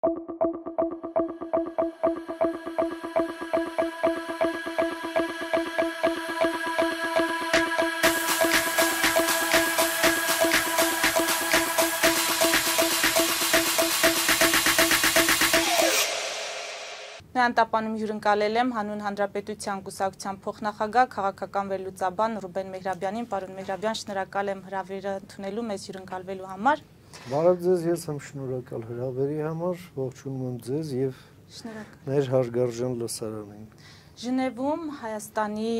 Տապանում հյուրընկալել եմ հանուն Հանրապետության կուսակցության փոխնախագահ քաղաքական վերլուծաբան Ռուբեն Մեհրաբյանին, պարոն Մեհրաբյան, շնորհակալ եմ հրավերը ընդունելու մեզ հյուրընկալվելու համար։ Բարև ձեզ, ես եմ շնորհակալ հրավերի համար, ողջունում եմ ձեզ եւ մեր հարգարժան լսարանին։ Ժնևում Հայաստանի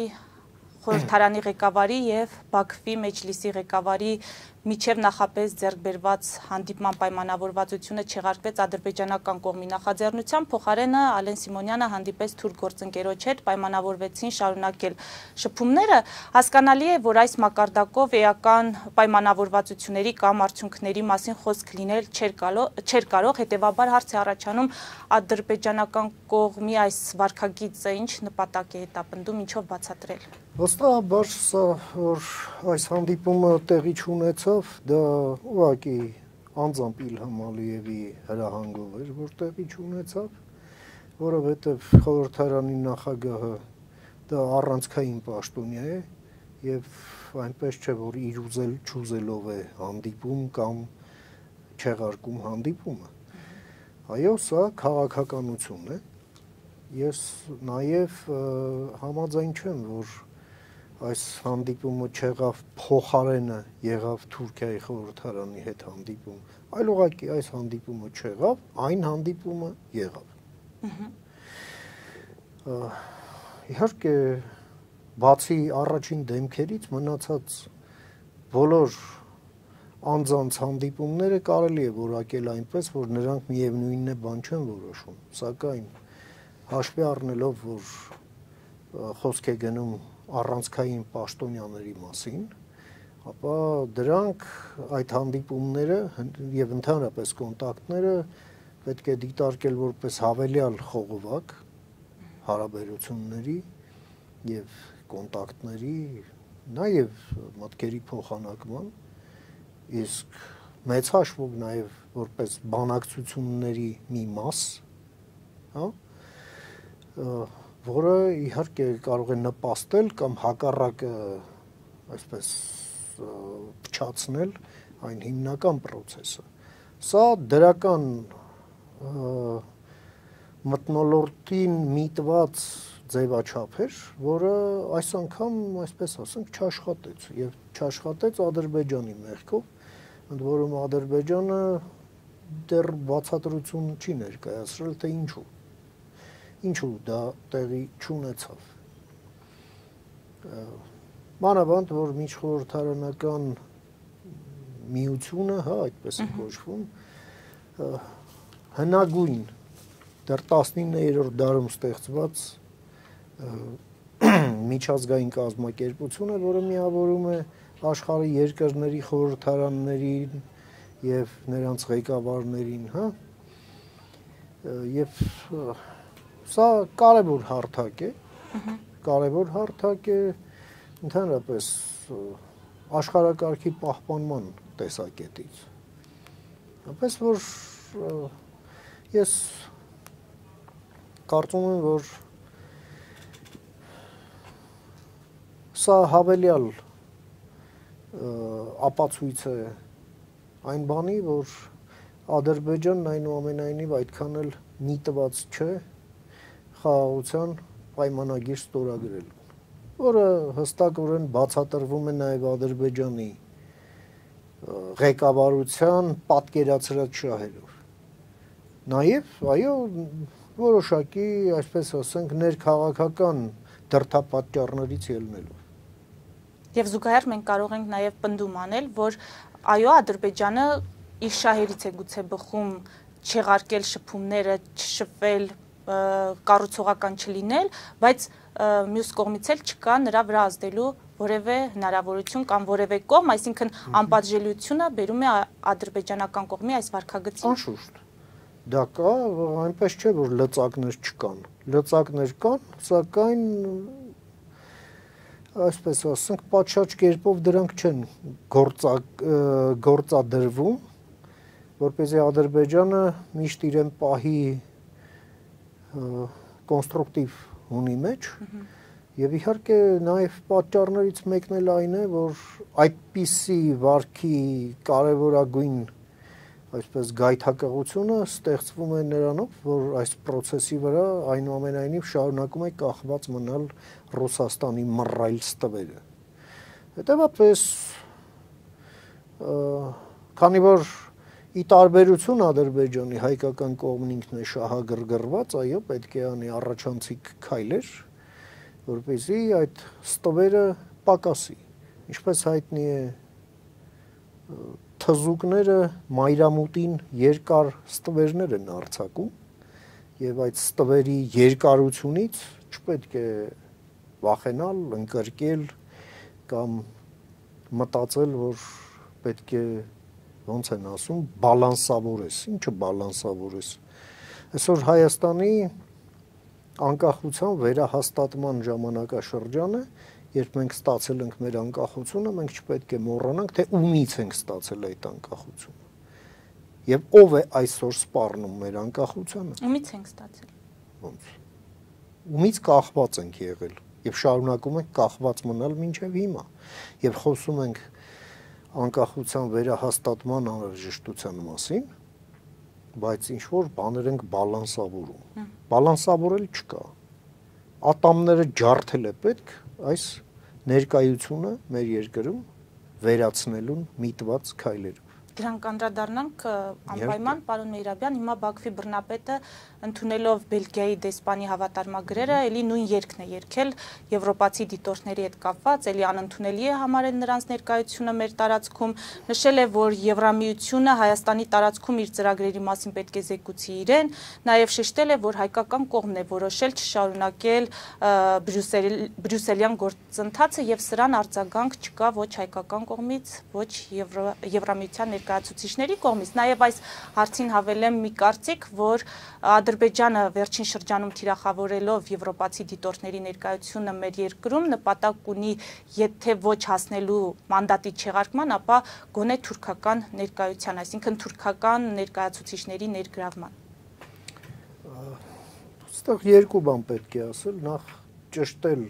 խորհրդարանի ղեկավարի եւ Բաքվի մեջլիսի ղեկավարի միջև նախապես ձեռք բերված հանդիպման պայմանավորվածությունը չեղարկվեց ադրբեջանական կողմի նախաձեռնությամբ, փոխարենը Ալեն Սիմոնյանը հանդիպեց թուրք գործընկերոջ հետ, պայմանավորվեցին շարունակել շփումները։ Հասկանալի է, որ այս մակարդակով էական պայմանավորվածությունների կամ արդյունքների մասին խոսք լինել չէր կարող, հետևաբար հարց է առաջանում ադրբեջանական կողմի այս վարքագիծը ինչ նպատակ է հետապնդում, ինչով բացատրել։ Վստահաբար սա, որ այս հանդիպումը տեղի չունեցավ, դա ուղղակի անձամբ Իլհամ Ալիևի հրահանգով էր, որ տեղի չունեցավ, որովհետև խորհրդարանի նախագահը դա առանցքային պաշտոնյա է եւ այնպես չէ, որ իր չուզելով է հանդիպում կամ չեղարկում հանդիպումը։ Այո, սա քաղաքականություն է։ Ես նաեւ համաձայն չեմ, որ այս հանդիպումը չեղավ փոխարենը եղավ Թուրքիայի խորհրդարանի հետ հանդիպում, այլ ուղղակի այս հանդիպումը չեղավ, այն հանդիպումը եղավ։ Իհարկե, բացի առաջին դեմքերից մնացած բոլոր անձանց հանդիպումները կարելի է որակել այնպես, որ նրանք միևնույնն է բան չեն որոշում, սակայն հաշվի առնելով, որ խոսք է գնում առանցքային պաշտոնյաների մասին, ապա դրանք այդ հանդիպումները եւ ընդհանրապես կոնտակտները պետք է դիտարկել որպես հավելյալ խողովակ հարաբերությունների եւ կոնտակտների, նաեւ մտքերի փոխանակման, իսկ մեծ հաշվով նաեւ որպես բանակցությունների մի մաս, հա, որը իհարկե կարող է նպաստել կամ հակառակը այսպես փչացնել այն հիմնական process-ը։ Սա դրական մթնոլորտին միտված ձևաչափ էր, որը այս անգամ, այսպես ասենք, չաշխատեց եւ չաշխատեց Ադրբեջանի մեղքով, ընդ որում Ադրբեջանը դեռ բացատրություն չի ներկայացրել, թե ինչու դա տեղի չունեցավ։ Մանավանդ, որ միջխորհրդարանական միությունը, հա, այդպես է կոչվում, հնագույն դեռ 19-րդ դարում ստեղծված միջազգային կազմակերպություն է, որը միավորում է աշխարհի երկրների խորհրդարաններին եւ նրանց ղեկավարներին, հա, եւ սա կարևոր հարթակ է, ընդհանրապես աշխարհակարգի պահպանման տեսակետից։ Այնպես որ ես կարծում եմ, որ սա հավելյալ ապացույց է այն բանի, որ Ադրբեջանն այնուամենայնիվ այդքան էլ միտված չէ խաղաղության պայմանագիր ստորագրելու, որը հստակորեն բացատրվում է նաև Ադրբեջանի ղեկավարության պատկերացրած շահերով։ Նաև, այո, որոշակի, այսպես ասենք, ներքաղաքական դրդապատճառներից ելնելով։ Եվ զուգահեռ մենք կարող ենք նաև պնդում անել, որ այո, Ադրբեջանը իր շահերից է գուցե բխում չեղարկել շփումները, չշփվել, կառուցողական չլինել, բայց մյուս կողմից էլ չկա նրա վրա ազդելու որևէ հնարավորություն կամ որևէ կողմ, այսինքն անպատժելիությունը բերում է ադրբեջանական կողմի այս վարքագծին։ Անշուշտ, դա կա, այնպես չէ, որ լծակներ չկան, լծակներ կան, սակայն այսպես ասենք, պատշաճ կերպով դրանք չեն գործադրվում, որպեսզի Ադրբեջանը միշտ իրեն պահի կոնստրուկտիվ հունի մեջ եւ իհարկե նաեւ պատճառներից մեկն էլ այն է, որ այդպիսի վարքի կարևորագույն այսպես գայթակղությունը ստեղծվում է նրանով, որ այս process-ի վրա այնուամենայնիվ շարունակում է կախված մնալ Ռուսաստանի մռայլ ստվերը։ Հետևաբար քանի որ ի տարբերություն Ադրբեջանի հայկական կողմն ինքն է շահագրգռված, այո, պետք է անի առաջանցիկ քայլեր, որպեսզի այդ ստվերը պակասի։ Ինչպես հայտնի է, թզուկները մայրամուտին երկար ստվերներ են արձակում եւ այդ ստվերի երկարությունից չպետք է վախենալ, ընկրկել կամ մտածել, որ պետք է ոնց են ասում, բալանսավորես, ինչը բալանսավորես։ Այսօր Հայաստանի անկախության վերահաստատման ժամանակաշրջանը, երբ մենք ստացել ենք մեր անկախությունը, մենք չպետք է մոռանանք, թե ումից ենք ստացել այդ անկախությունը։ Եվ ով է այսօր սպառնում մեր անկախությանը։ Ումից ենք ստացել։ Ոնց։ Ումից կախված ենք եղել եւ շարունակում ենք կախված մնալ մինչեւ հիմա։ Եվ խոսում ենք անկախության վերահաստատման անհրաժեշտության մասին, բայց ինչ որ բաներ ենք բալանսավորում։ Բալանսավորել չկա։ Ատամները ջարդել է պետք այս ներկայությունը մեր երկրում վերացնելուն միտված քայլերով։ Դրան կանդրադառնանք անպայման, պարոն Մեհրաբյան, հիմա Բաքվի բռնապետը ընդունելով Բելգիայի դեսպանի հավատարմագրերը, էլի նույն երգն է երգել եվրոպացի դիտորդների հետ կապված, էլի անընդունելի է համարել նրանց ներկայությունը մեր տարածքում, նշել է, որ Եվրամիությունը Հայաստանի տարածքում իր ծրագրերի մասին պետք է զեկուցի իրեն, նաև շեշտել է, որ հայկական կողմն է որոշել չշարունակել բրյուսելյան գործընթացը եւ սրան արձագանք չկա ոչ հայկական կողմից, ոչ Եվրամիության ներկայացուցիչների կողմից, նաև այս հարցին հավելեմ մի կարծիք, որ Ադրբեջանը վերջին շրջանում թիրախավորելով եվրոպացի դիտորդների ներկայությունը մեր երկրում նպատակ ունի, եթե ոչ հասնելու մանդատի չեղարկման, ապա գոնե թուրքական ներկայության, այսինքն թուրքական ներկայացուցիչների ներգրավման։ Այստեղ երկու բան պետք է ասել, նախ ճշտել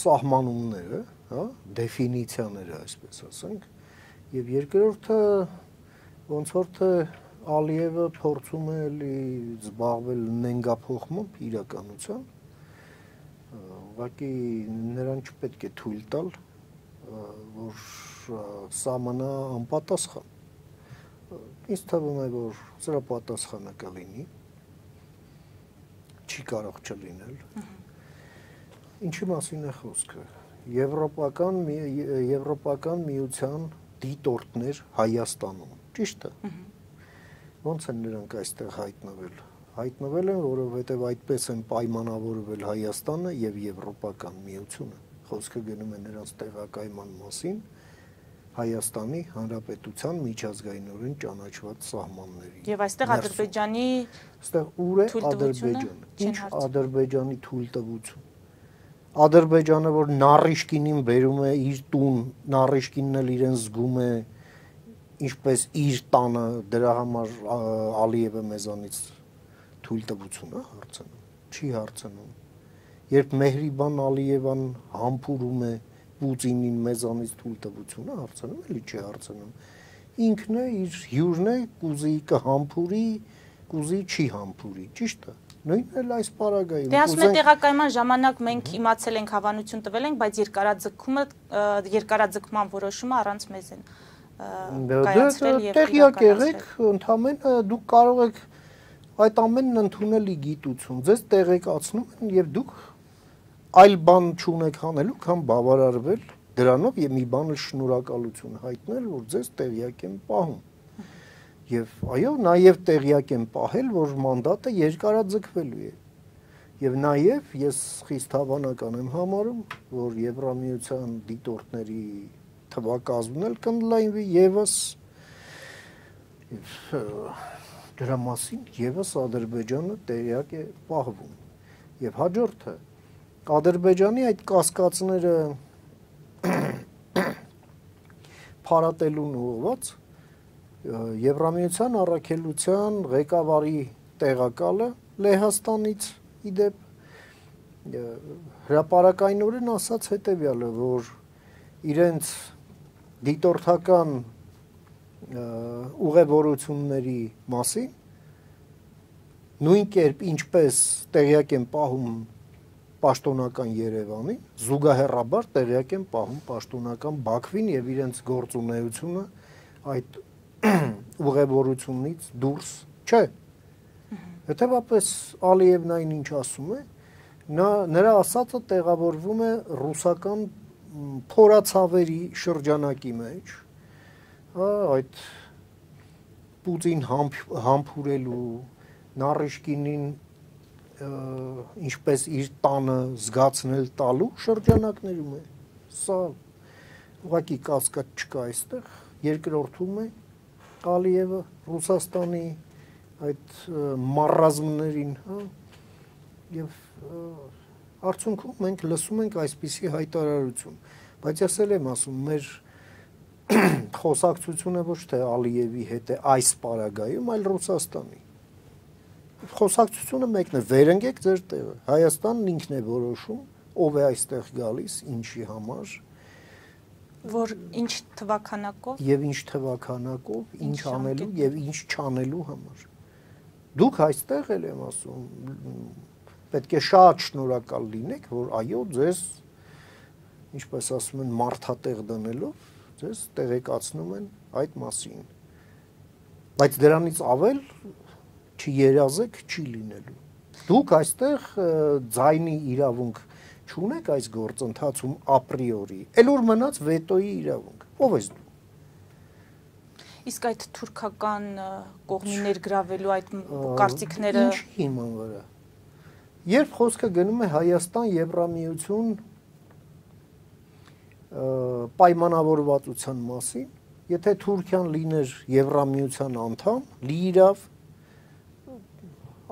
սահմանումները, հա, դեֆինիցիաները, այսպես ասենք, եւ երկրորդը ոնց որ թե Ալիևը փորձում է զբաղվել նենգափոխմամբ իրականության, ուղղակի նրան չպետք է թույլ տալ, որ սահմանա անպատասխան։ Ինձ թվում է, որ սրա պատասխանը կլինի, չի կարող չլինել։ Ինչի մասին է խոսքը։ Եվրոպական միության դիտորդներ Հայաստանում, ճիշտ է։ Ոնց են նրանք այստեղ հայտնվել։ Հայտնվել են, որովհետև այդպես են պայմանավորվել Հայաստանը եւ Եվրոպական միությունը։ Խոսքը գնում է նրանց տեղակայման մասին Հայաստանի Հանրապետության միջազգայինորեն ճանաչված սահմանների։ Եվ այստեղ Ադրբեջանի այստեղ ուր է Ադրբեջանը։ Ինչ Ադրբեջանի թույլտվություն։ Ադրբեջանը, որ Նարիշկինին բերում է իր տուն, Նարիշկինն էլ իրեն զգում է ինչպես իր տանը, դրա համար Ալիևը մեզանից թույլտվություն է հարցնում, չի հարցնում։ Երբ Մեհրիբան Ալիևան համբուրում է Պուտինին մեզանից թույլտվություն է հարցնում, էլի չի հարցնում։ Ինքն է իր հյուրն է, կուզի կհամբուրի, կուզի չի համբուրի, ճիշտ է։ Նույնն էլ այս պարագայում։ Դե ասում է տեղակայման ժամանակ մենք իմացել ենք, հավանություն տվել ենք, բայց երկարաձգման որոշումը առանց մեզ են կայացրել եւ տեղյակ եղեք, ընդհանրապես դուք կարող եք այդ ամենն ընդունելի գիտություն, ձեզ տեղեկացնում են եւ դուք այլ բան չունեք անելու, քան բավարարվել դրանով եւ մի բան շնորհակալություն հայտնել, որ ձեզ տեղյակ են պահում։ Եվ այո, նաև տեղյակ եմ պահել, որ մանդատը երկարաձգվելու է։ Եվ նաև ես խիստ հավանական եմ համարում, որ Եվրամիության դիտորդների թվակազմն էլ կընդլայնվի եւս դրա մասին եւս Ադրբեջանը տեղյակ է պահվում։ Եվ հաջորդը Ադրբեջանի այդ կասկածները փարատելուն ուղղված Եվրամիության առաքելության ղեկավարի տեղակալը Լեհաստանից իդեպ հրապարակայնորեն ասաց հետևյալը, որ իրենց դիտորդական ուղևորությունների մասին նույն կերպ ինչպես տեղյակ են պահում պաշտոնական Երևանի, զուգահեռաբար տեղյակ են պահում պաշտոնական Բաքվին եւ իրենց գործունեությունը այդ ուղևորությունից դուրս չէ։ Հետևաբար Ալիևն այնինչ ասում է, նրա ասածը տեղավորվում է ռուսական փորացավերի շրջանակի մեջ, այդ Պուտին համբուրելու, Նարիշկինին ինչպես իր տանը զգացնել տալու շրջանակներում է։ Սա ուղղակի կասկած չկա այստեղ, երկրորդում է Ալիևը Ռուսաստանի այդ մարազմներին, եւ արդյունքում մենք լսում ենք այսպիսի հայտարարություն, բայց ես էլ եմ ասում, մեր խոսակցությունը ոչ թե Ալիևի հետ է այս պարագայում, այլ Ռուսաստանի։ Խոսակցությունը մեկն է, վերընկեք ձեր տեղը։ Հայաստանն ինքն է որոշում, ով է այստեղ գալիս, ինչի համար, որ ինչ թվականակով եւ ինչ թվականակով, ինչ անելու եւ ինչ չանելու համար։ Դուք այստեղ էլ եմ ասում, պետք է շատ շնորհակալ լինեք, որ այո, ձեզ, ինչպես ասում են, մարդատեղ դնելով, ձեզ տեղեկացնում են այդ մասին։ Բայց դրանից ավել չերազեք չի լինելու։ Դուք այստեղ ձայնի իրավունք չունեք այս գործընթացում ապրիորի, էլ որ մնաց վետոյի իրավունք։ Ո՞վ ես դու։ Իսկ այդ թուրքական կողմի ներգրավելու այդ կարծիքները ինչ հիման վրա։ Երբ խոսքը գնում է Հայաստան Եվրամիություն պայմանավորվածության մասին, եթե Թուրքիան լիներ Եվրամիության անդամ, լիիրավ,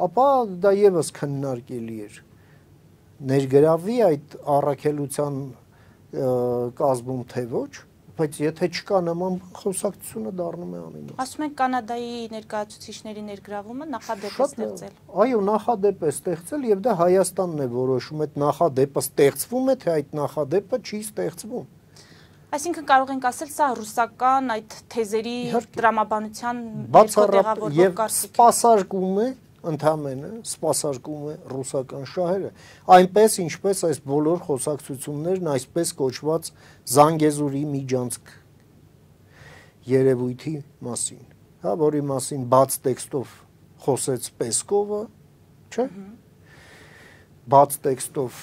ապա դա եւս քննարկելի էր։ Ներգրավի այդ առաքելության կազմում թե ոչ, բայց եթե չկա նման խոսակցությունը դառնում է անիմաստ։ Ասում են Կանադայի ներկայացուցիչների ներգրավումը նախադեպ է ստեղծել։ Այո, նախադեպ է ստեղծել եւ դա Հայաստանն է որոշում, այդ նախադեպը ստեղծվում է, թե այդ նախադեպը չի ստեղծվում։ Այսինքն կարող ենք ասել, սա ռուսական այդ թեզերի տրամաբանության եւ սպասարկում է ընդհանրապես սպասարկում է ռուսական շահերը, այնպես ինչպես այս բոլոր խոսակցություններն այսպես կոչված Զանգեզուրի միջանցք երևույթի մասին, հա, որի մասին բաց տեքստով խոսեց Պեսկովը, չէ՞։ Բաց տեքստով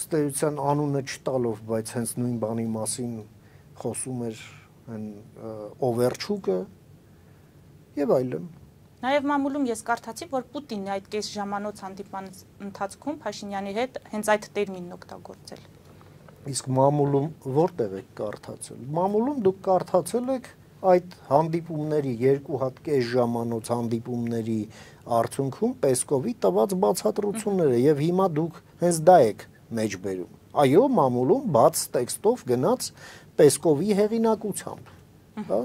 ըստ էության անունը չտալով, բայց հենց նույն բանի մասին խոսում էր Օվերչուկը եւ այլն։ Նաեւ մամուլում ես կարդացի, որ Պուտինն այդ կես ժամանոց հանդիպման ընթացքում Փաշինյանի հետ հենց այդ տերմինն օգտագործել։ Իսկ մամուլում որտեղ եք կարդացել։ Մամուլում դուք կարդացել եք այդ հանդիպումների երկու հատ կես ժամանոց հանդիպումների արդյունքում Պեսկովի տված բացատրությունները եւ հիմա դուք հենց դա եք մեջբերում։ Այո, մամուլում բաց տեքստով գնաց Պեսկովի հեղինակությամբ, հա։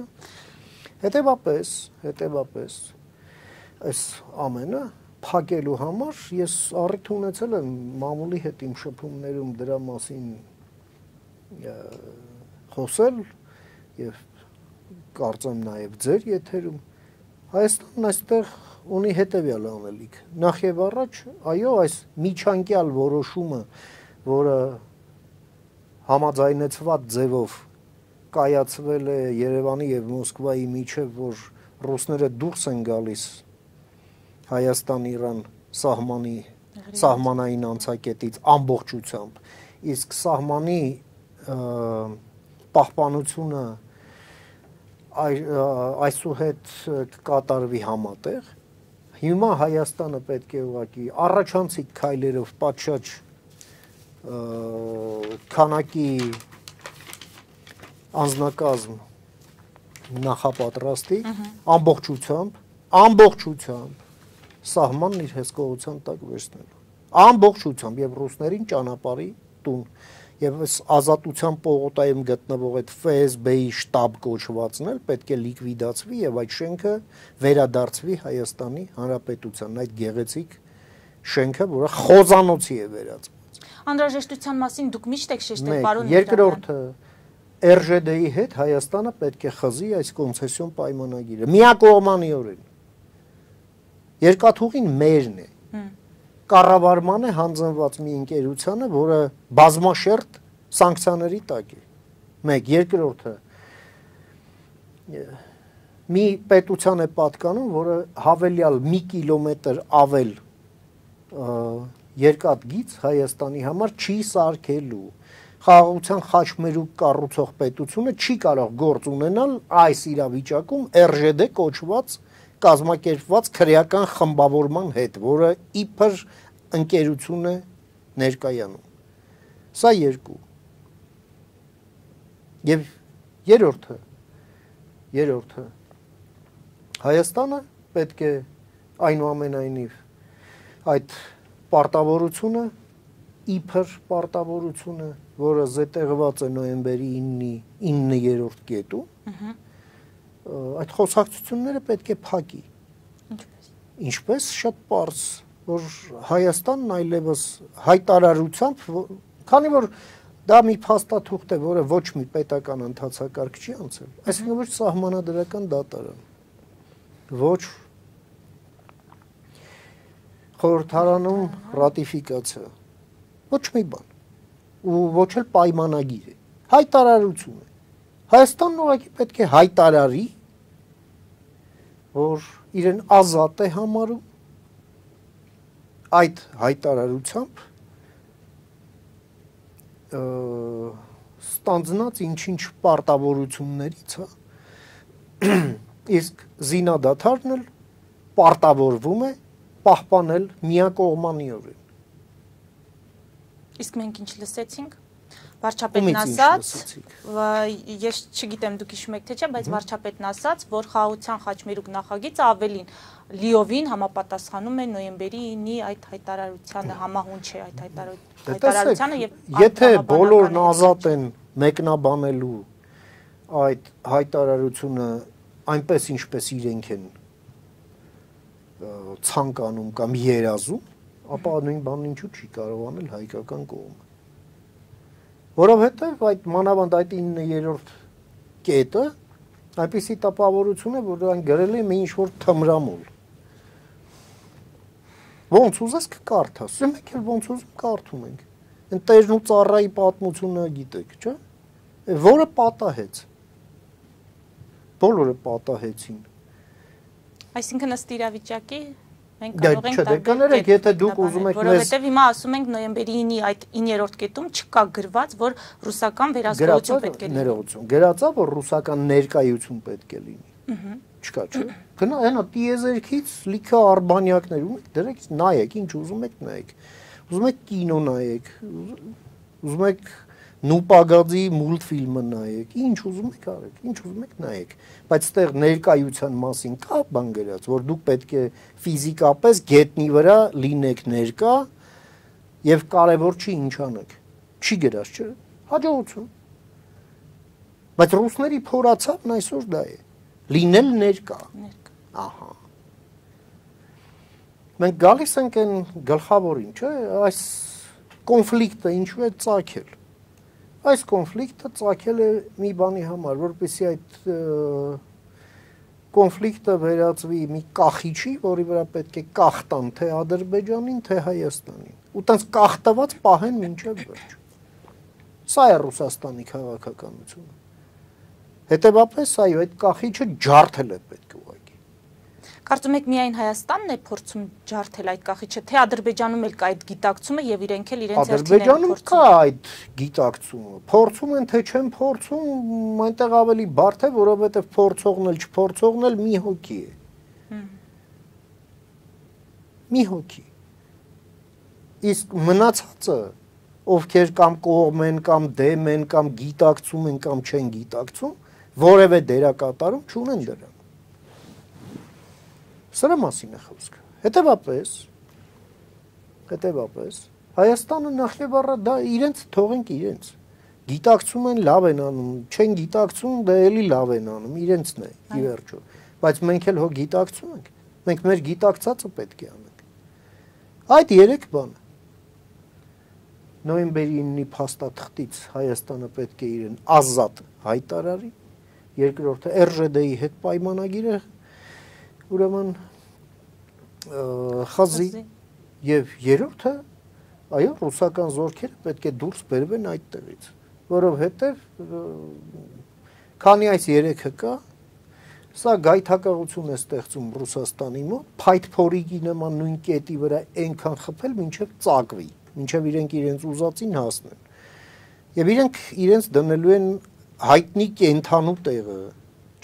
Հետևաբար այս ամենը փակելու համար ես առիթ ունեցել եմ մամուլի հետ իմ շփումներում դրա մասին խոսել եւ կարծեմ նաեւ ձեր եթերում Հայաստանն այստեղ ունի հետեւյալ անելիք նախ եւ առաջ այո այս միջանկյալ որոշումը որը համաձայնեցված ձևով կայացվել է Երևանի եւ Մոսկվայի միջև, որ ռուսները դուրս են գալիս Հայաստան-Իրան սահմանային անցակետից ամբողջությամբ, իսկ սահմանի պահպանությունը այսուհետ կկատարվի համատեղ, հիմա Հայաստանը պետք է ուղղակի առաջանցիկ քայլերով պատշաճ քանակի անձնակազմ նախապատրաստի ամբողջությամբ սահմանն իր հսկողության տակ վերցնելու ամբողջությամբ եւ ռուսներին ճանապարհի տուն եւ այս ազատության պողոտայում գտնվող այդ ՖՍԲ-ի շտաբ կոչվածն էլ պետք է լիկվիդացվի եւ այդ շենքը վերադարձվի Հայաստանի Հանրապետության, այդ գեղեցիկ շենքը, որը խոզանոցի է վերածված։ Անհրաժեշտության մասին դուք միշտ եք շեշտել, պարոն։ Երկրորդը ՌԺԴ-ի հետ Հայաստանը պետք է խզի այս կոնցեսիոն պայմանագիրը միակողմանիորեն։ Երկաթուղին մերն է։ Կառավարման է հանձնված մի ընկերությանը, որը բազմաշերտ սանկցիաների տակ է։ Մեկ, երկրորդը մի պետության է պատկանում, որը հավելյալ մի կիլոմետր ավել երկաթգիծ Հայաստանի համար չի սարքելու։ Խաղաղության խաչմերուկ կառուցող պետությունը չի կարող գործ ունենալ այս իրավիճակում ՌԺԴ կոչված կազմակերպված քրեական խմբավորման հետ, որը իբր ընկերություն է ներկայանում։ Սա երկու։ Եվ երրորդը Հայաստանը պետք է այնուամենայնիվ այդ պարտավորությունը իբր պարտավորությունը, որը զետեղված է նոյեմբերի 9-րդ կետում, այդ խոսակցությունները պետք է փակի։ Ինչպես շատ պարզ, որ Հայաստանն այլևս հայտարարությամբ, քանի որ դա մի փաստաթուղթ է, որը ոչ մի պետական ընթացակարգ չի անցել, այսինքն ոչ սահմանադրական դատարան, ոչ խորհրդարանում ռատիֆիկացիա, ոչ մի բան, ու ոչ էլ պայմանագիր է, հայտարարություն է։ Հայաստանն ուղղակի պետք է հայտարարի, որ իրեն ազատ է համարում այդ հայտարարությամբ ստանձնած ինչ-ինչ պարտավորություններից, իսկ զինադադարն էլ պարտավորվում է պահպանել միակողմանիորեն։ Իսկ մենք ինչ լսեցինք, վարչապետն ասաց, ես չգիտեմ դուք հիշում եք թե չէ, բայց վարչապետն ասաց, որ խաղաղության խաչմերուկ նախագիծը ավելին լիովին համապատասխանում է նոյեմբերի 9-ի այդ հայտարարությանը, համահունչ է այդ հայտարարությանը եւ եթե բոլորն ազատ են մեկնաբանելու այդ հայտարարությունը այնպես ինչպես իրենք են ցանկանում կամ երազում, ապա նույն բանն ինչու չի կարող անել հայկական կողմը։ Որովհետև այդ մանավանդ այդ 9-րդ կետը այնպիսի տպավորություն է, որ այն գրել է մի ինչ-որ թմրամոլ։ Ոնց ուզես կկարդաս, մենք էլ ոնց ուզում կարդում ենք։ Այն տերն ու ծառայի պատմությունը գիտեք, չէ՞։ Որը պատահեց։ Բոլորը պատահեցին։ Այսինքն ըստ իրավիճակի մենք կարող ենք կներեք, եթե դուք ուզում եք որովհետև հիմա ասում ենք նոյեմբերի 9-ի այդ 9-րդ կետում չկա գրված, որ ռուսական վերահսկողություն պետք է լինի։ Գրածա, որ ռուսական ներկայություն պետք է լինի։ Չկա, չէ՞։ Գնա հենա տիեզերքից լիքը արբանյակներ ու դրեք նայեք, ինչ ուզում եք նայեք։ Ուզում եք կինո նայեք, ուզում եք նուպագադի մուլտֆիլմը նայեք, ինչ ուզում եք արեք, ինչ ուզում եք նայեք, բայց այդտեղ ներկայության մասին կա բան գրած, որ դուք պետք է ֆիզիկապես գետնի վրա լինեք ներկա եւ կարեւոր չի ինչ անեք։ Չի գրած, չէ՞։ Հաջողություն։ Բայց ռուսների փորացավն այսօր դա է։ Լինել ներկա։ Ահա։ Մենք գալիս ենք այն գլխավորին, չէ՞, այս կոնֆլիկտը ինչու է ծագել։ Այս կոնֆլիկտը ծագել է մի բանի համար, որպեսզի այդ կոնֆլիկտը վերածվի մի կախիչի, որի վրա պետք է կախտան թե Ադրբեջանին, թե Հայաստանին։ Ու տենց կախտված պահեն մինչև վերջ։ Սա է Ռուսաստանի քաղաքականությունը։ Հետևաբար այո, այդ կախիչը ջարդել է պետք ուղղակի։ Կարծում եք միայն Հայաստանն է փորձում ջարդել այդ կախիչը, թե Ադրբեջանում էլ կա այդ գիտակցումը եւ իրենք էլ իրենց հերթին են փորձում։ Ադրբեջանում կա այդ գիտակցումը։ Փորձում են թե չեն փորձում, այնտեղ ավելի բարդ է, որովհետեւ փորձողն էլ չփորձողն էլ մի հոգի է։ Մի հոգի։ Իսկ մնացածը, ովքեր կամ կողմ են, կամ դեմ են, կամ գիտակցում են, կամ չեն գիտակցում, որևէ դերակատարում չունեն դրան։ Սրա մասին է խոսքը։ Հետևաբար Հայաստանը նախ եւ առ դա իրենց թողենք իրենց։ Գիտակցում են լավ են անում, չեն գիտակցում դա էլի լավ են անում, իրենցն է ի վերջո։ Բայց մենք էլ հո գիտակցում ենք։ Մենք մեր գիտակցածը պետք է անենք։ Այդ 3 բանը։ Նոյեմբերի 9-ի փաստաթղթից Հայաստանը պետք է իրեն ազատ հայտարարի, երկրորդը ՌԺԴ-ի հետ պայմանագիրը ուրեմն խզի եւ երրորդը այո ռուսական զորքերը պետք է դուրս բերվեն այդտեղից, որովհետեւ քանի այս 3-ը կա, սա գայթակղություն է ստեղծում Ռուսաստանի մոտ, փայտփորիկի նման նույն կետի վրա այնքան խփել, մինչև ծակվի, մինչև իրենք իրենց ուզածին հասնեն։ Եվ իրենք իրենց դնելու են հայտնի կենթանու տեղը,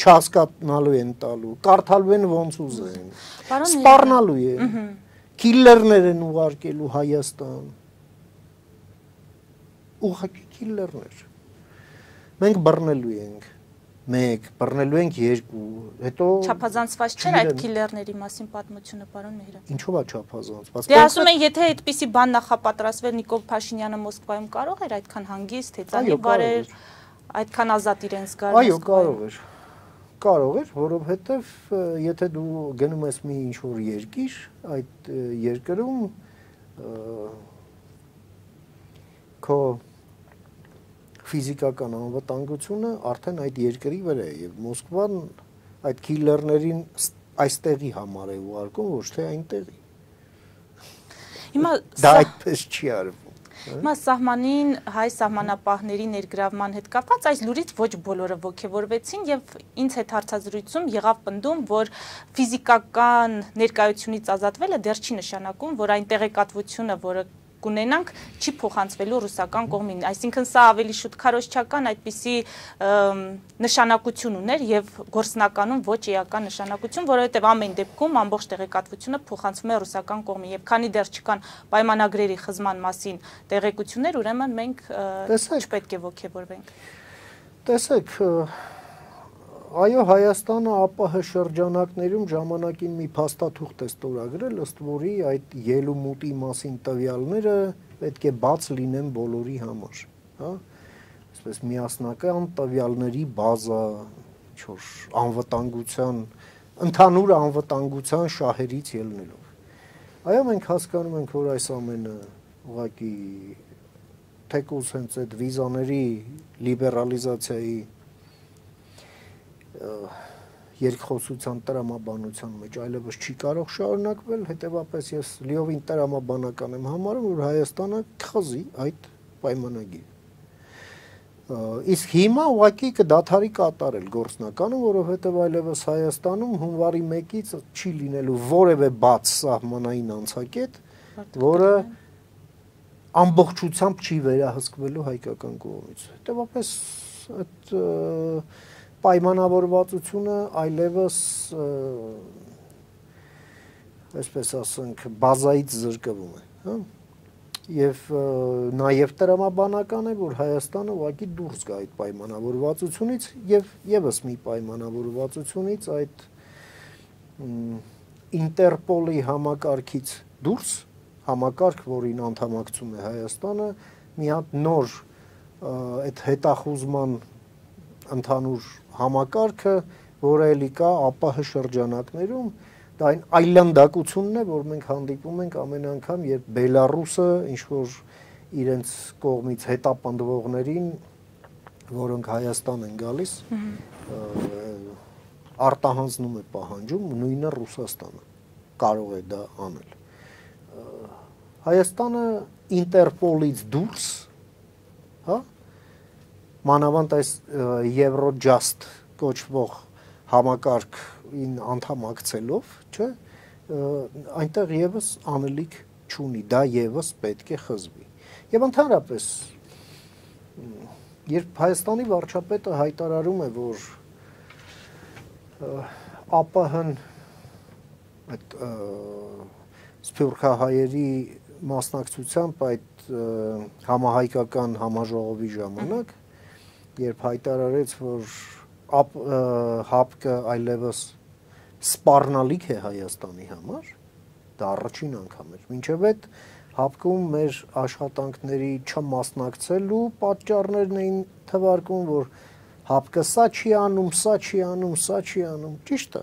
չհասկանալու են տալու, կարդալու են ոնց ուզեն, սպառնալու են, քիլլերներ են ուղարկելու Հայաստան, ուղղակի քիլլերներ։ Մենք բռնելու ենք, մեկ, բռնելու ենք 2, հետո չափազանցված չէր այդ քիլլերների մասին պատմությունը, պարոն Մեհրան։ Ինչով է չափազանցված։ Դե ասում են, եթե այդպիսի բան նախապատրաստվեր, Նիկոլ Փաշինյանը Մոսկվայում կարող էր այդքան հանգիստ, հեծանի բարեր, այդքան ազատ իրեն զգալ։ Այո, կարող էր։ Կարող էր, որովհետև եթե դու գնում ես մի ինչ-որ երկիր, այդ երկրում քո ֆիզիկական անվտանգությունը արդեն այդ երկրի վրա է եւ Մոսկվան այդ քիլլերներին այստեղի համար է ուղարկում, ոչ թե այնտեղի։ Հիմա դա այդպես չի արվում։ Հիմա սահմանին հայ սահմանապահների ներգրավման հետ կապված այս լուրից ոչ բոլորը ոգևորվեցին եւ ինձ հետ հարցազրույցում եղավ պնդում, որ ֆիզիկական ներկայությունից ազատվելը դեռ չի նշանակում, որ այն տեղեկատվությունը, որը կունենանք, չի փոխանցվելու ռուսական կողմին, այսինքն սա ավելի շուտ քարոզչական այդպիսի նշանակություն ուներ եւ գործնականում ոչ էական նշանակություն, որովհետեւ ամեն դեպքում ամբողջ տեղեկատվությունը փոխանցվում է ռուսական կողմին եւ քանի դեռ չկան պայմանագրերի խզման մասին տեղեկություններ, ուրեմն մենք չպետք է ոգևորվենք։ Տեսեք, այո, Հայաստանը ԱՊՀ շրջանակներում ժամանակին մի փաստաթուղթ է ստորագրել, ըստ որի այդ ելումուտի մասին տվյալները պետք է բաց լինեն բոլորի համար, հա? Այսպես միասնական տվյալների բազա, ինչ-որ անվտանգության, ընդհանուր անվտանգության շահերից ելնելով։ Այո, մենք հասկանում ենք, որ այս ամենը ուղղակի թեկուզ հենց այդ վիզաների լիբերալիզացիայի երկխոսության տրամաբանության մեջ այլևս չի կարող շարունակվել, հետևապես ես լիովին տրամաբանական եմ համարում, որ Հայաստանը կխզի այդ պայմանագիրը։ Իսկ հիմա ուղղակի կդադարի կատարել գործնականը, որովհետև այլևս Հայաստանում հունվարի 1-ից չի լինելու որևէ բաց սահմանային անցակետ, որը ամբողջությամբ չի վերահսկվելու հայկական կողմից։ Հետևապես այդ պայմանավորվածությունը այլևս այսպես ասենք բազայից զրկվում է, հա? Եվ նաև տրամաբանական է, որ Հայաստանը ուղղակի դուրս գա այդ պայմանավորվածությունից եւ եւս մի պայմանավորվածությունից այդ Ինտերպոլի համակարգից դուրս համակարգ, որին անդամակցում է Հայաստանը, մի հատ նոր այդ հետախուզման ընդհանուր համակարգը, որը էլի կա ԱՊՀ շրջանակներում, դա այն այլանդակությունն է, որ մենք հանդիպում ենք ամեն անգամ, երբ Բելարուսը ինչ-որ իրենց կողմից հետապնդվողներին, որոնք Հայաստան են գալիս, արտահանձնում է պահանջում, նույնը Ռուսաստանը կարող է դա անել։ Հայաստանը Ինտերպոլից դուրս, հա, մանավանդ այս Eurojust կոչվող համակարգին անդամակցելով, չէ, այնտեղ եւս անելիք չունի, դա եւս պետք է խզվի։ Եվ ընդհանրապես, երբ Հայաստանի վարչապետը հայտարարում է, որ ԱՊՀ-ն այդ սփյուռքահայերի մասնակցությամբ այդ համահայկական համաժողովի ժամանակ, երբ հայտարարեց, որ ՀԱՊԿ-ը այլևս սպառնալիք է Հայաստանի համար, դա առաջին անգամ էր։ Մինչև այդ հապկում մեր աշխատանքների չմասնակցելու պատճառներն էին թվարկում, որ հապկը սա չի անում, սա չի անում, սա չի անում, ճիշտ է։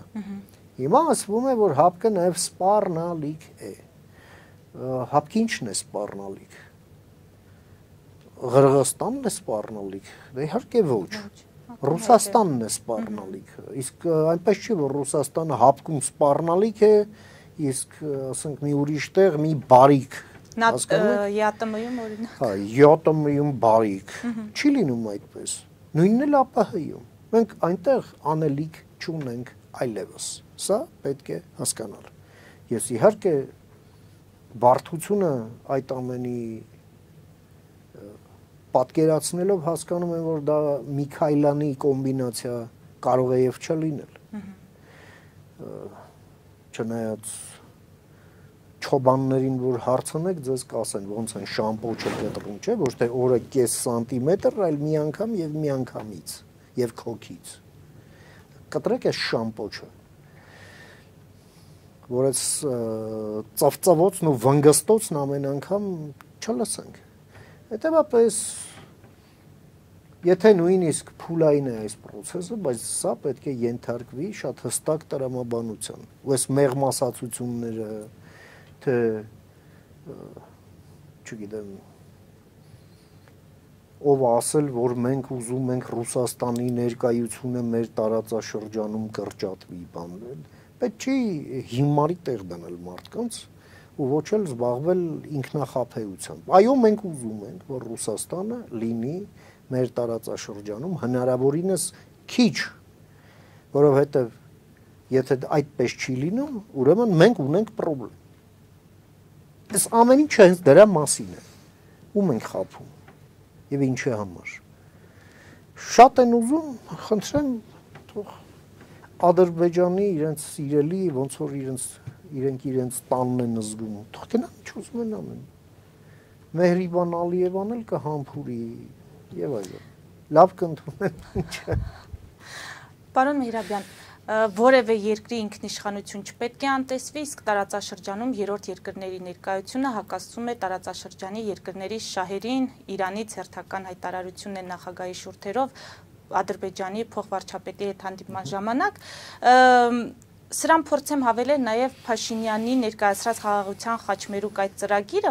Հիմա ասվում է, որ հապկը նաև սպառնալիք է։ Հապկի ինչն է սպառնալիք։ Ղրղստանն է սպառնալիք։ Դե իհարկե ոչ։ Ռուսաստանն է սպառնալիք։ Իսկ այնպես չի, որ Ռուսաստանը հապկում սպառնալիք է, իսկ ասենք մի ուրիշ տեղ մի բարիք ԵԱՏՄ-ում օրինակ։ Հա, ԵԱՏՄ-ում բարիք։ Չի լինում այդպես։ Նույնն էլ ԱՊՀ-ում։ Մենք այնտեղ անելիք չունենք այլևս։ Սա պետք է հասկանալ։ Ես իհարկե բարդությունը այդ ամենի պատկերացնելով հասկանում եմ, որ դա Միքայլյանի կոմբինացիա կարող է եւ չլինել։ Չնայած չոբաններին, որ հարցնեք, ձեզ կասեն ոնց են շամպոչը կտրում, չէ, ոչ թե օրը կես սանտիմետր, այլ մի անգամ եւ մի անգամից եւ քոքից։ Կտրեք այս շամպոչը, որ այս ծվծվոցն ու վնգստոցն ամեն անգամ չլսենք։ Հետևաբար եթե նույնիսկ փուլային է այս process-ը, բայց սա պետք է ենթարկվի շատ հստակ տրամաբանության։ Ու այս մեղմասացությունները, թե չգիտեմ, ով ասել, որ մենք ուզում ենք Ռուսաստանի ներկայությունը մեր տարածաշրջանում կրճատվի, բան, պետք չի հիմարի տեղ դնել մարդկանց ու ոչ էլ զբաղվել ինքնախաբեությամբ։ Այո, մենք ուզում ենք, որ Ռուսաստանը լինի մեր տարածաշրջանում հնարավորինս քիչ, որովհետև եթե այդպես չի լինում, ուրեմն մենք ունենք խնդրեմ։ Այս ամեն ինչը հենց դրա մասին է։ Ում ենք խաբում եւ ինչի համար։ Շատ են ուզում, խնդրեմ, թող Ադրբեջանի իրենց սիրելի, ոնց որ իրենց տանն են զգում, թող գնան ինչ ուզում են ամեն։ Մեհրիբան Ալիևան էլ կհամբուրի եւ այլն։ Լավ կընդունեն ինչը։ Պարոն Մեհրաբյան, որևէ երկրի ինքնիշխանություն չպետք է անտեսվի, իսկ տարածաշրջանում երրորդ երկրների ներկայությունը հակասում է տարածաշրջանի երկրների շահերին, Իրանից հերթական հայտարարությունն է նախագահի շուրթերով Ադրբեջանի փոխվարչապետի հետ հանդիպման ժամանակ։ Սրան փորձեմ հավելել նաև Փաշինյանի ներկայացրած խաղաղության խաչմերուկ այդ ծրագիրը,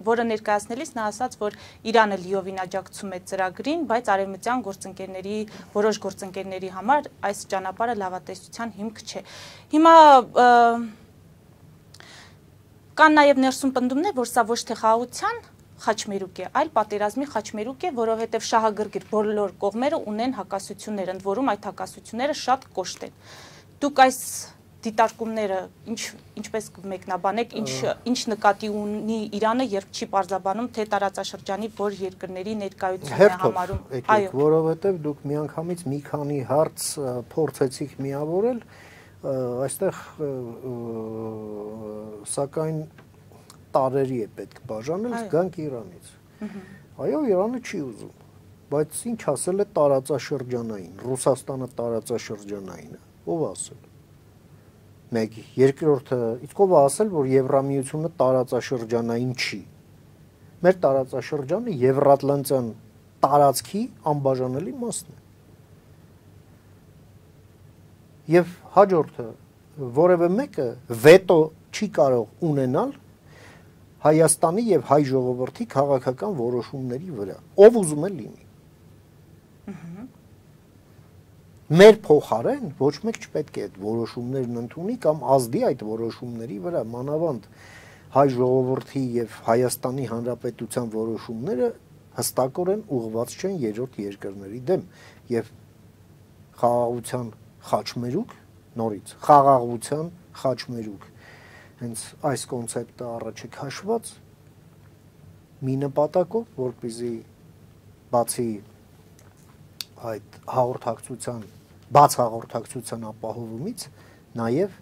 որը ներկայացնելիս նա ասաց, որ Իրանը լիովին աջակցում է ծրագրին, բայց արևմտյան գործընկերների, որոշ գործընկերների համար այս ճանապարհը լավատեսության հիմք չէ։ Հիմա կան նաև ներսում պնդումներ, որ սա ոչ թե խաղաղության խաչմերուկ է, այլ պատերազմի խաչմերուկ է, որովհետև շահագրգիռ բոլոր կողմերը ունեն հակասություններ, ընդ որում այդ հակասությունները շատ կոշտ են։ Դուք այս դիտարկումները ինչպես կմեկնաբանեք, ինչ նկատի ունի Իրանը, երբ չի պարզաբանում, թե տարածաշրջանի որ երկրների ներկայությունն է համարում։ Այո, որովհետև դուք միանգամից մի քանի հարց փորձեցիք միավորել, այստեղ սակայն տարերի է պետք բաժանել, գանք Իրանից։ Այո, Իրանը չի ուզում, բայց ինչ ասել է տարածաշրջանային, Ռուսաստանը տարածաշրջանային է, ով ասել։ Մեկ, երկրորդը, իսկ ով ասել, որ Եվրամիությունը տարածաշրջանային չի։ Մեր տարածաշրջանը Եվրատլանտյան տարածքի անբաժանելի մասն է։ Եվ հաջորդը, որևէ մեկը վետո չի կարող ունենալ Հայաստանի եւ հայ ժողովրդի քաղաքական որոշումների վրա, ով ուզում է լինի։ Մեր փոխարեն ոչ մեկ չպետք է այդ որոշումներն ընդունի կամ ազդի այդ որոշումների վրա, մանավանդ հայ ժողովրդի եւ Հայաստանի Հանրապետության որոշումները հստակորեն ուղղված չեն երրորդ երկրների դեմ եւ խաղաղության խաչմերուկ, նորից խաղաղության խաչմերուկ հենց այս կոնցեպտը առաջ է քաշված մի նպատակով, որպեսզի բացի այդ հաղորդակցության, բաց հաղորդակցության ապահովումից, նաև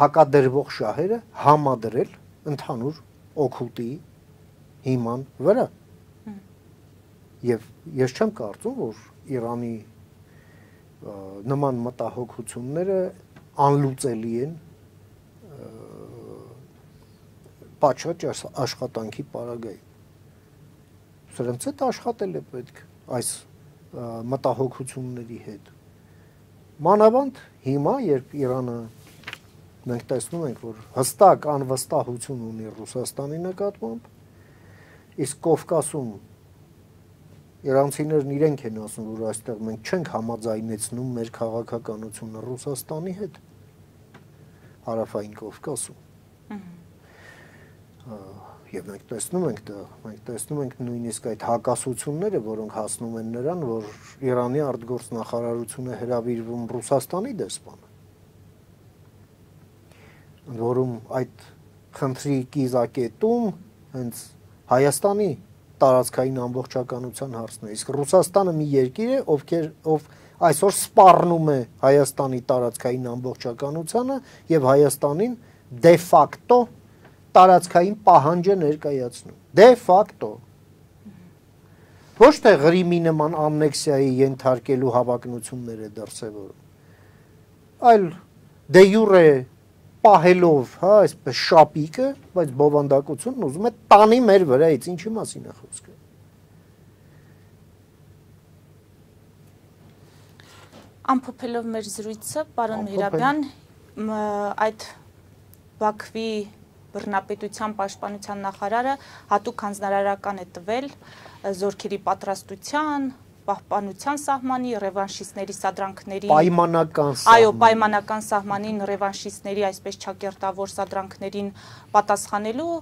հակադրվող շահերը համադրել ընդհանուր օգուտի հիման վրա։ Եվ ես չեմ կարծում, որ Իրանի նման մտահոգությունները անլուծելի են պատշաճ աշխատանքի պարագայում։ Սրանց հետ աշխատել է պետք այս մտահոգությունների հետ։ Մանավանդ հիմա, երբ Իրանը մենք տեսնում ենք, որ հստակ անվստահություն ունի Ռուսաստանի նկատմամբ, իսկ Կովկասում իրանցիներն իրենք են ասում, որ այստեղ մենք չենք համաձայնեցնում մեր քաղաքականությունը Ռուսաստանի հետ, Հարավային Կովկասում։ Եվ մենք տեսնում ենք նույնիսկ այդ հակասությունները, որոնք հասնում են նրան, որ Իրանի արտգործնախարարությունը հրավիրվում Ռուսաստանի դեսպանը, որում այդ խնդրի կիզակետում հենց Հայաստանի տարածքային ամբողջականության հարցն է, իսկ Ռուսաստանը մի երկիր է, ով այսօր սպառնում է Հայաստանի տարածքային ամբողջականությանը եւ Հայաստանին դե ֆակտո տարածքային պահանջ է ներկայացնում։ Դե ֆակտո։ Ոչ թե Ղրիմի նման ամնեքսիայի ենթարկելու հավակնություններ է դրսևորում, այլ դե յուրե պահելով, հա, այսպես շապիկը, բայց բովանդակությունն ուզում է տանի մեր վրայից, ինչի մասին է խոսքը։ Ամփոփելով մեր զրույցը, պարոն Միրաբյան, այդ Բաքվի բռնապետության պաշտպանության նախարարը հատուկ հանձնարարական է տվել զորքերի պատրաստության, պահպանության սահմանի, ռևանշիստների սադրանքների պայմանական սահմանին, ռևանշիստների այսպես չակերտավոր սադրանքներին պատասխանելու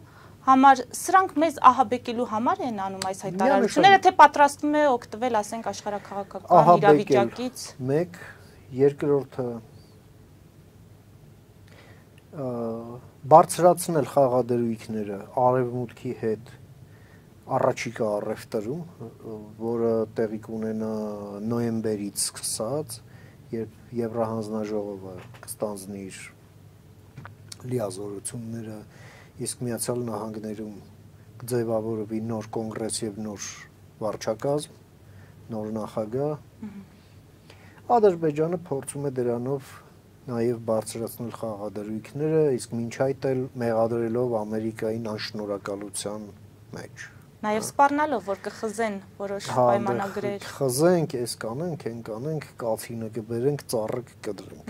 համար, սրանք մեզ ահաբեկելու համար են անում այս հայտարարությունները, թե պատրաստվում է օգտվել, ասենք, աշխարհաքաղաքական իրավիճակից։ Մեկ, երկրորդը բարձրացնել խաղադրույքները արևմուտքի հետ առաջիկա առևտրում, որը տեղի կունենա նոյեմբերից սկսած, երբ Եվրահանձնաժողովը կստանձնի իր լիազորությունները, իսկ Միացյալ Նահանգներում կձևավորվի նոր կոնգրես եւ նոր վարչակազմ, նոր նախագահ, Ադրբեջանը փորձում է դրանով նաև բարձրացնել խաղադրույքները, իսկ մինչ այդ էլ մեղադրելով Ամերիկային անշնորհակալության մեջ։ Նաև սպառնալով, որ կխզեն որոշ պայմանագրեր։ Խզենք, էս կանենք, են կանենք, կաթինը կբերենք, ծառը կկտրենք։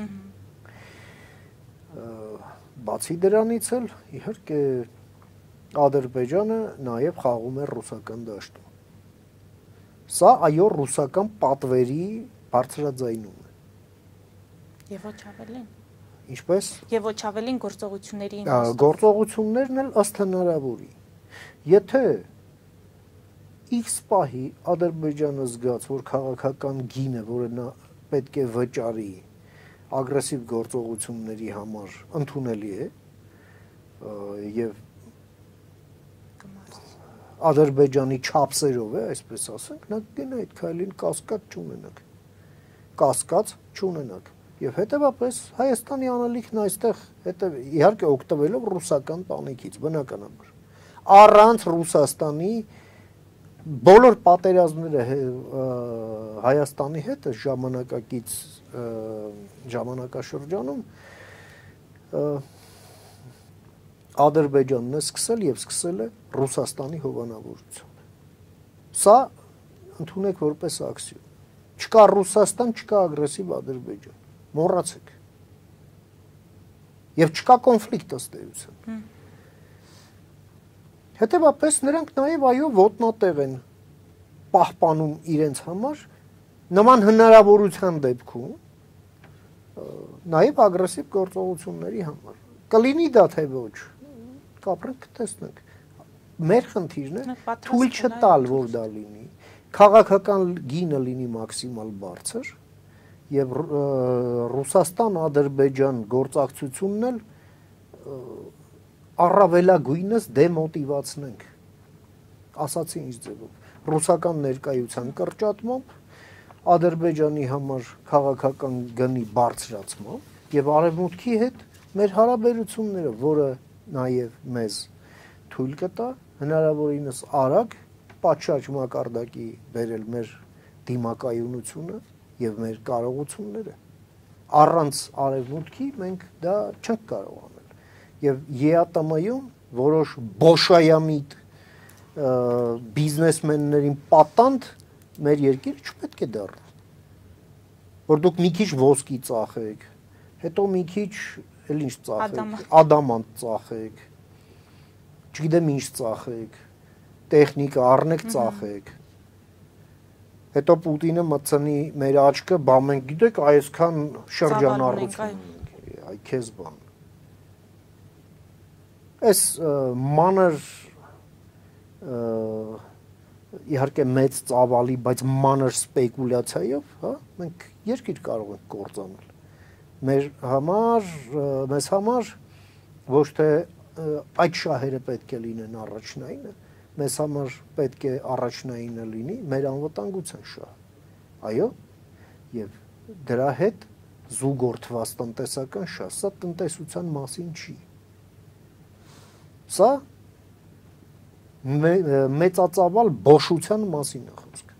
Բացի դրանից էլ, իհարկե, Ադրբեջանը նաև խաղում է ռուսական դաշտում։ Սա այո ռուսական պատվերի բարձրաձայնում է։ Եվ ոչ ավելին։ Ինչպես։ Եվ ոչ ավելին գործողությունների գործողություններն էլ ըստ հնարավորի։ Եթե X պահի Ադրբեջանը զգաց, որ քաղաքական գինը, որը նա պետք է վճարի ագրեսիվ գործողությունների համար ընդունելի է, եւ Ադրբեջանի չափսերով է, այսպես ասենք, նա կգնա այդ քայլին կասկած չունենաք։ Եվ հետևաբար Հայաստանի անելիքն այստեղ իհարկե օգտվելով ռուսական տանիքից, բնականաբար։ Առանց Ռուսաստանի բոլոր պատերազմները Հայաստանի հետ ժամանակակից ժամանակաշրջանում Ադրբեջանն է սկսել եւ սկսել է Ռուսաստանի հովանավորությունը։ Սա ընդունեք որպես աքսիոմ։ Չկա Ռուսաստան, չկա ագրեսիվ Ադրբեջան։ Մոռացեք։ Եվ չկա կոնֆլիկտ ըստ էության։ Հետևաբար նրանք նաև այո ոտնատեղ են պահպանում իրենց համար նման հնարավորության դեպքում նաև ագրեսիվ գործողությունների համար։ Կլինի դա թե ոչ, կապրենք կտեսնենք։ Մեր խնդիրն է թույլ չտալ, որ դա լինի, քաղաքական գինը լինի մաքսիմալ բարձր եւ Ռուսաստան-Ադրբեջան գործակցությունն էլ առավելագույնս դեմոտիվացնենք, ասացի ինչ ձևով, ռուսական ներկայության կրճատմամբ, Ադրբեջանի համար քաղաքական գնի բարձրացմամբ եւ արևմուտքի հետ մեր հարաբերությունները, որը նաեւ մեզ թույլ կտա հնարավորինս արագ պատշաճ մակարդակի բերել մեր դիմակայունությունը եւ մեր կարողությունները։ Առանց արևմուտքի մենք դա չենք կարող անել։ Եվ ԵԱՏՄ-ում որոշ բոշայամիտ բիզնեսմեններին պատանդ մեր երկիրը չպետք է դառնա։ Որ դուք մի քիչ ոսկի ծախեք, հետո մի քիչ էլ ինչ ծախեք, ադամանտ ծախեք, չգիտեմ ինչ ծախեք, տեխնիկա առնեք ծախեք։ Հետո Պուտինը մտցնի մեր աչքը, բա մենք գիտեք այսքան շրջանառություն ունենք, այ քեզ բան։ Այս մանր իհարկե մեծ ծավալի, բայց մանր սպեկուլյացիայով, հա, մենք երկիր կարող ենք կործանել։ Մեզ համար ոչ թե այդ շահերը պետք է լինեն առաջնայինը, մեզ համար պետք է առաջնայինը լինի մեր անվտանգության շահը։ Այո, եւ դրա հետ զուգորդված տնտեսական շահ, սա տնտեսության մասին չի։ Սա մեծածավալ բոշության մասին է խոսքը։